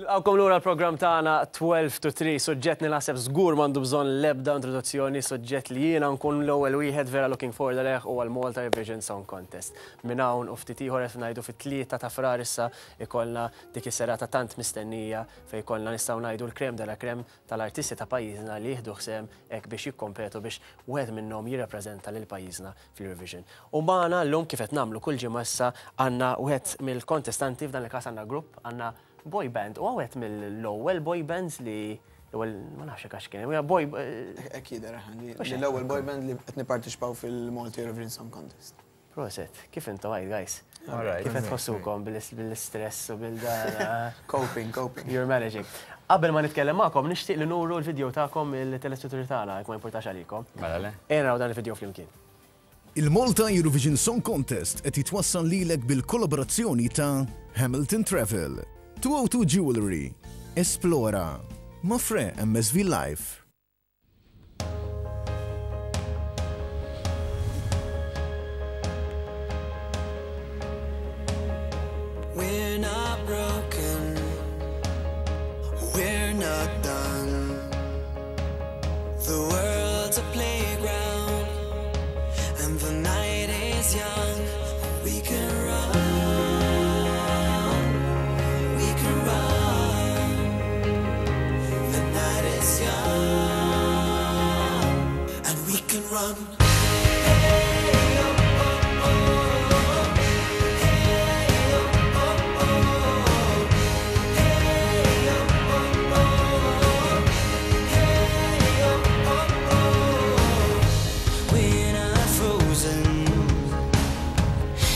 Nilqgħukom lura l-programm tagħna 12 to 3, suġġett li naħseb żgur m'għandu bżonn l-ebda introduzzjoni, suġġett li jiena nkun l-ewwel wieħed vera looking forward għalih huwa l-Malta Eurovision Song Contest. Minn hawn u ftit ieħor qed ngħidu fit-3 ta' Frar issa ikollna dik is-serata tant mistennija fejn ikollna nistgħu ngħidu l-crème de la crème tal-artisti ta' pajjiżna li jieħdu sehem hekk biex jikkompetu biex wieħed minnhom jirrappreżenta lil pajjiżna fl-Eurovision. U magħna llum kif qed nagħmlu kull ġimgħa issa għandna wieħed mill-kontestanti, f'dan il-każ għandna grupp, għandna boy band u wieħed mill-ewwel boy bands li l-ewwel ma nafx hekk għax kien, boy Hekk jidher li l-ewwel boy band li qed nipparteċipaw fil-Malta Eurovision Song Contest. Proset, kif intom għid guys? Kif qed tħossukom bil-istress u bil-dan? Coping, coping. You're managing. Qabel ma nitkellem magħkom, nixtieq li nuru l-video tagħkom il-telespettaturi tagħna, jekk ma jimpurtax għalikom. Mela le. Ejja naraw dan il-video flimkien. Il-Malta Eurovision Song Contest qed jitwassal lilek bil-kollaborazzjoni ta' Hamilton Travel, 202 Jewellery, Esplora, Mafre MSV Life. We're not broken, we're not done. The world's a playground, and the night is young. We can run, we can run. The night is young, and we can run. Hey, oh, oh, oh. Hey, oh, oh, oh. Hey, oh, oh, oh. Hey, oh, oh, oh. We're not frozen,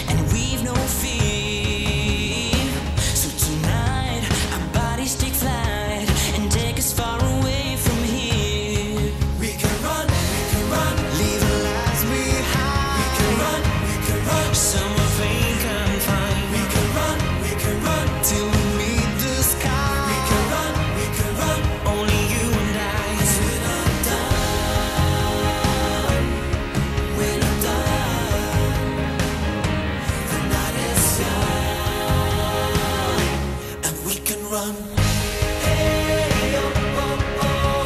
and we've no fear. So tonight, our bodies take flight and take us far away from here. We can run, we can run, leave the lies behind. We can run, we can run, somewhere we can find. We can run, we can run till we meet the sky. We can run, we can run, only you and I. 'Cause we're not done, we're not done. The night is young, and we can run. Hey, oh, oh, oh.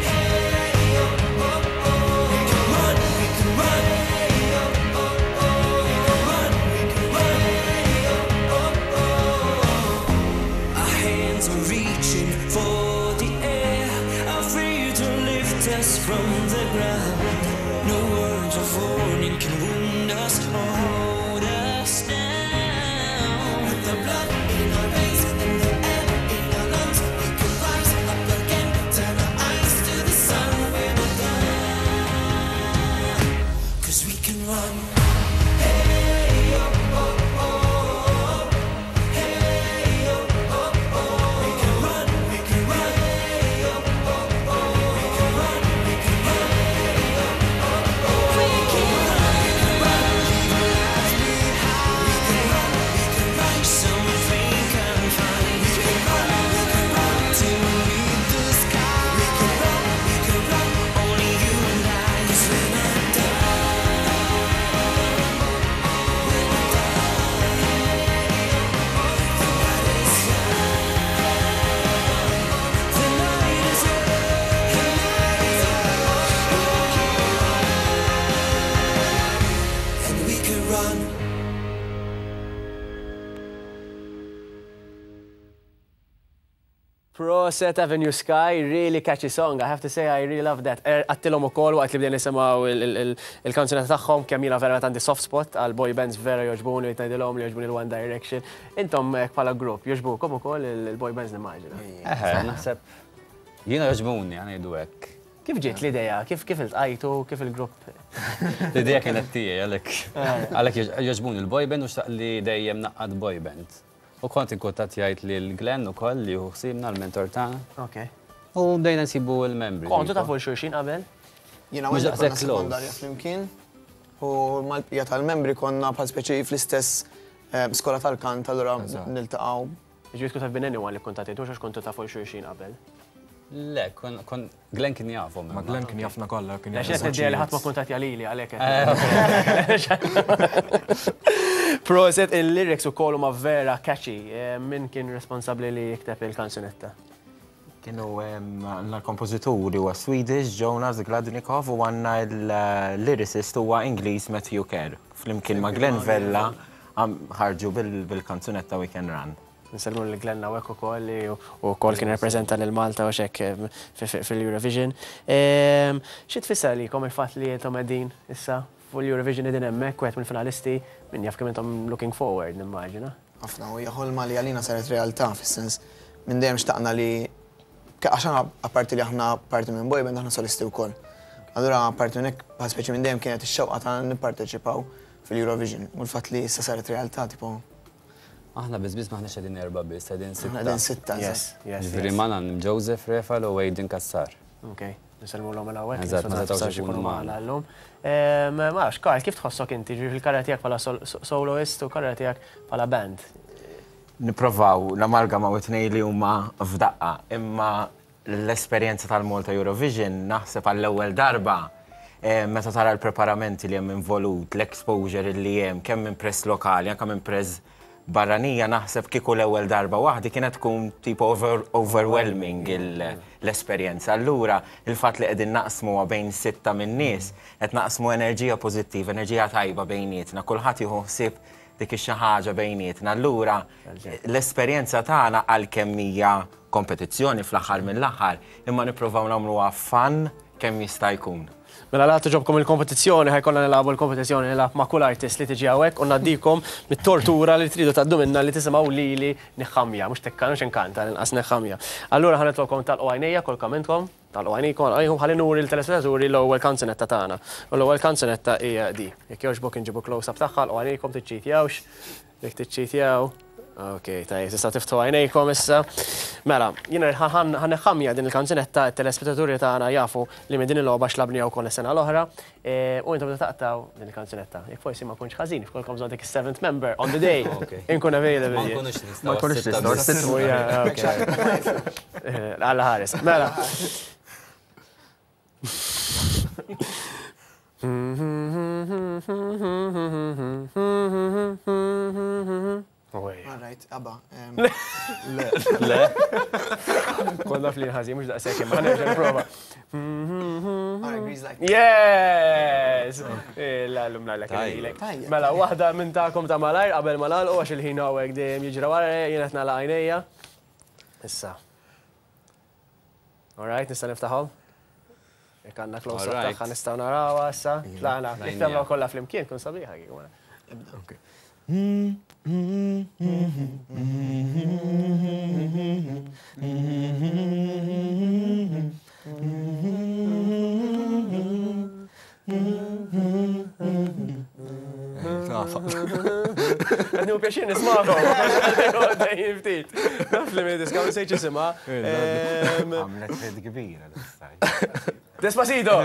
Hey, oh, oh, oh. We can run, we can run. Hey, oh, oh, oh. We can run, we can run. Hey, oh, oh, oh. Our hands are reaching for the air, are free to lift us from the ground. No words of warning can wound us or hold us down. With the blood in our veins and the air in our lungs, we can rise up again, turn our eyes to the sun. We're not done, 'cause we can run. Hey, oh, oh, oh. Hey, oh, oh, oh. We can run, we can run. Hey, oh, oh, oh. We can run, we can run. Hey, oh, oh, oh. We can run, we can run. Leave the lies behind. We can run, we can run. Somewhere we can find. We can run, we can run till we meet the sky. We can run, we can run. Only you and I. 'Cause we're not done. We're not done. The night is young. The night is young. The night is young. And we can run. Proset Avenue Sky, really catchy song. I have to say I really love that. Għedtilhom ukoll waqt li bdejna nisimgħu il-kanzunetta tagħhom kemm jiena verament għandi soft spot għal boy bands vera jogħġbuni li tgħidilhom li jogħġbuni l-One Direction. Intom bħala grupp jogħġbukom ukoll il-boy bands nimmaġina. Eħe, naħseb jiena jogħġbuni ħa ngħidu hekk. Kif ġiet l-idea? Kif iltqajtu? Kif il-grupp? L-idea kienet tiegħi għalhekk għalhekk jogħġbuni l-boy band u xtaqt li dejjem ngħaqqad boy band. U kont inkuntattjajt lil Glenn ukoll li hu ħsiebna l-mentor tagħna. Ok. U bdejna nsibu l-membri. Kontu tafu xulxin qabel? Jiena Mhux u konna daqshekk close. sekondarja flimkien u mal-bqija tal-membri konna bħal speċi fl-istess skola tal-kant, allura niltaqgħu. Ġifieri could have been anyone li kuntattjajtu għax kontu tafu xulxin qabel. Le, kon Glenn kien jafhom. Ma Glenn kien jafna kollha, kien Għax jaf qed li ħadd ma kuntattja lili għalhekk. Proset, il-lyrics ukoll huma vera catchy. Min kien responsabbli li jikteb il-kanzunetta? Kienu għandna l-kompożitur huwa Swedish Jonas Gladnikov u għandna l-lyricist huwa Ingliż Matthew Kerr. Flimkien ma' Glenn Vella ħarġu bil-kanzunetta We Can Run. Nsellmu lil Glenn hawnhekk ukoll li wkoll kien irrappreżenta lil Malta u x'hekk fil-Eurovision. Xi tfisser għalikom il-fatt li intom qegħdin issa fuq l-Eurovision qegħdin hemmhekk wieħed mill-finalisti, min jaf kemm intom looking forward nimmaġina. Ħafna u hija ħolma li għalina saret realtà fis-sens minn dejjem xtaqna li għax aħna apparti li aħna parti minn boy band aħna solisti wkoll. Allura apparti minn hekk bħal speċi minn dejjem kienet ix-xewqa tagħna nipparteċipaw fil-Eurovision u l-fatt li issa saret realtà tipo. Aħna biss biss m'aħniex qegħdin erbgħa biss, qegħdin sitta. Aħna qegħdin sitta. Yes, yes. Ġifieri magħna hemm Joseph, Refal u Aiden Cassar. Okay. Nsellmulhom minn hawnhekk. Eżatt, ma setgħux ikunu magħna llum. Ma nafx, Karl, kif tħossok inti, ġifieri fil-karriera tiegħek bħala soloist u karriera tiegħek bħala band? Nipprovaw namalgamaw it-tnejn li huma f'daqqa, imma l-esperjenza tal-Malta Eurovision naħseb għall-ewwel darba meta tara l-preparamenti li hemm involut, l-exposure li hemm kemm minn press lokali, anke minn press barranija naħseb kieku l-ewwel darba waħdi kienet tkun tipo overwhelming l-esperjenza. Allura il-fatt li qegħdin naqsmuha bejn sitta min-nies, qed naqsmu enerġija pożittiva, enerġija tajba bejnietna, kulħadd jieħu ħsieb dik ix-xi ħaġa bejnietna. Allura l-esperjenza tagħna għalkemm hija kompetizzjoni fl-aħħar mill-aħħar, imma nippruvaw nagħmluha fun kemm jista' jkun. Mela la togħġobkom il-kompetizzjoni, ħa jkollna nilagħbu l-kompetizzjoni nilgħab ma' kull artist li tiġi hawnhekk u ngħaddikom mit-tortura li tridu tgħaddu minnha li tisimgħu lili niħħamja, mhux tekka, mhux inkanta, l-inqas niħħamja. Allura ħa nitlobkom tagħlqu għajnejja kollkom intkom, tagħlqu għajnejkom, għajnejkom ħalli nuri lit-telespettaturi l-ewwel kanzunetta tagħna. U l-ewwel kanzunetta hija di. Jekk jogħġbok inġibu close-up tagħha, għalqu għajnejkom tiċċitjawx. Jekk tiċċitjaw. Ok, tajjeb, tista' tiftħu għajnejkom issa. Mela, jiena ħa neħħamja din il-kanzunetta, it-telespettaturi tagħna jafu li minn din il-logħba xlabniha wkoll is-sena l-oħra, u intom taqtgħu din il-kanzunetta. Jekk forsi ma kontx ħażin, jekk bżonn dik is-seventh member on the day, inkun available. Ma nkunux nistgħu. Ma nkunux nistgħu. Alla ħares. Mela. All right, abba. Le. Le. Konna fl ħażin mhux daqshekk imma nerġa' nipprova. Yes! La llum nagħlek lilek. Mela waħda minn tagħkom ta' malajr qabel ma nagħlqu għax il-ħin hawnhekk dejjem jiġri wara jien qed nagħlaq għajnejja. Issa. All right, nista' niftaħhom? Jekk għandna close up tagħha nistgħu narawha issa. Tlaqna, jekk tagħmlu kollha flimkien tkun sabiħa kieku. Okay. Qed nieħu pjaċir nismagħkom. Dejjem ftit. Naf li minn diska ma sejtx isimha. Għamlet ħid kbira Despacito!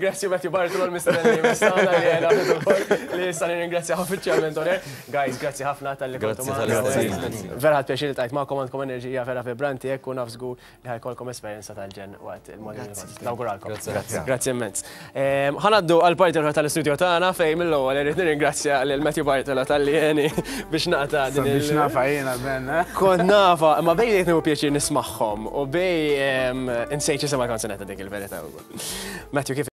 Grazzi Matthew Bartolo l-mistenni mistana li jena li issa nirringrazzja uffiċjalment oner. Guys, grazzi ħafna tal-li kontu magħna. Vera ħadt pjaċir li tajt magħkom għandkom enerġija vera vibranti hekk u naf żgur li ħa jkollkom esperjenza tal-ġenn waqt il-Modern Grazzi. Nawguralkom. Grazzi. Grazzi immens. Ħa ngħaddu għall-parti l-oħra tal-istudio tagħna fejn mill-ewwel irrid nirringrazzja lil Matthew Bartolo talli għeni biex naqta' din il- Biex nafa jiena Ben, eh? Kont nafa, imma bej qed nieħu pjaċir nismagħhom u bej insejt x'isem il-kanzunetta dik il-verità wkoll. Matthew kif